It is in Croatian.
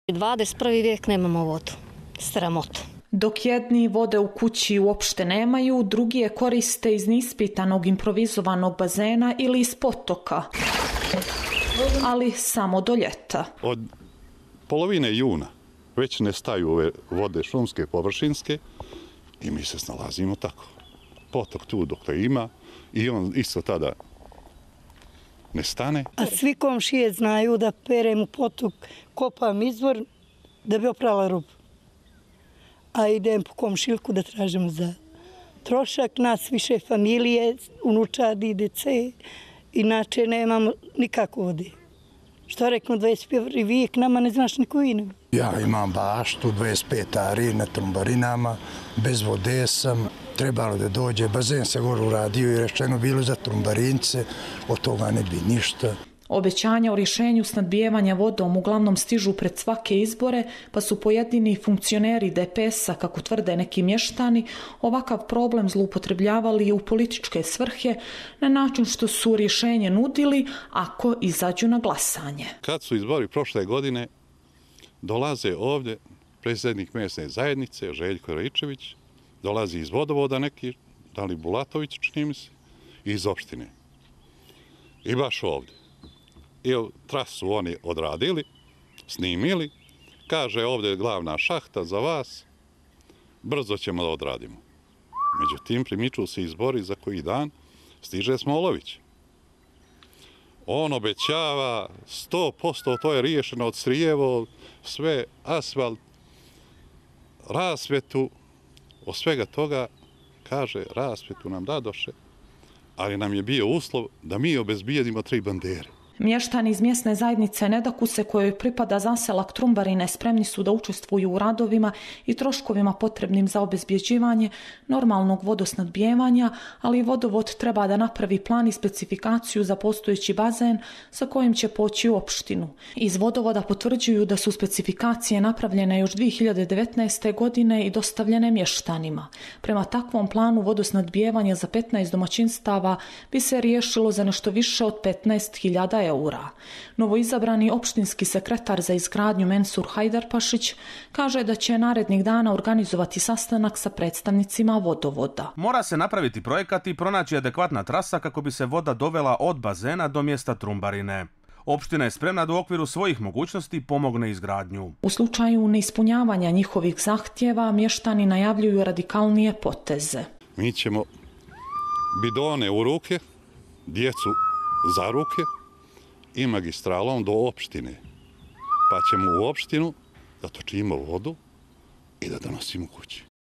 21. vijek nemamo vodu. Sramota. Dok jedni vode u kući uopšte nemaju, drugi je koriste iz neispitanog improvizovanog bazena ili iz potoka, ali samo do ljeta. Od polovine juna već nestaju ove vode šumske, površinske i mi se snalazimo tako. Potok tu dok ima i on isto tada nestane. A svi komšije znaju da perem u potok, kopam izvor da bi oprala rubu. A idem po komšiljku da tražimo za trošak. Nas više familije, unučadi, dece, inače nemamo nikako vode. Što rekao, 21. vijek, nama ne znaš niku inu. Ja imam baštu, 25 ari na trumbarinama, bez vode sam, trebalo da dođe, bazen se gore uradio i rečeno bilo za trumbarince, od toga ne bi ništa. Obećanja o rješenju snadbijevanja vodom uglavnom stižu pred svake izbore, pa su pojedini funkcioneri DPS-a, kako tvrde neki mještani, ovakav problem zloupotrebljavali u političke svrhe na način što su rješenje nudili ako izađu na glasanje. Kad su izbori prošle godine, dolaze ovdje predsjednik mjesne zajednice, Željko Ričević, dolazi iz vodovoda neki, da li Bulatović, čini mi se, iz opštine. I baš ovdje. I trasu oni odradili, snimili, kaže ovdje je glavna šahta za vas, brzo ćemo da odradimo. Međutim, primiču se izbori za koji dan, stiže Smolović. On obećava 100%, to je riješeno od Srijevo, sve asfalt, rasvjetu, od svega toga, kaže, rasvjetu nam dadoše, ali nam je bio uslov da mi obezbijedimo 3 bandere. Mještani iz mjesne zajednice Nedakuse, kojoj pripada zaselak Trumbarine, spremni su da učestvuju u radovima i troškovima potrebnim za obezbjeđivanje normalnog vodosnadbijevanja, ali vodovod treba da napravi plan i specifikaciju za postojeći bazen sa kojim će poći u opštinu. Iz vodovoda potvrđuju da su specifikacije napravljene još 2019. godine i dostavljene mještanima. Prema takvom planu vodosnadbijevanja za 15 domaćinstava bi se riješilo za nešto više od 15.000 eura. Novoizabrani opštinski sekretar za izgradnju Mensur Hajdarpašić kaže da će narednih dana organizovati sastanak sa predstavnicima vodovoda. Mora se napraviti projekat i pronaći adekvatna trasa kako bi se voda dovela od bazena do mjesta Trumbarine. Opština je spremna da u okviru svojih mogućnosti pomogne izgradnju. U slučaju neispunjavanja njihovih zahtjeva, mještani najavljuju radikalnije poteze. Mi ćemo bidone u ruke, djecu za ruke i magistralom do opštine. Pa ćemo u opštinu da točimo vodu i da donosimo kući.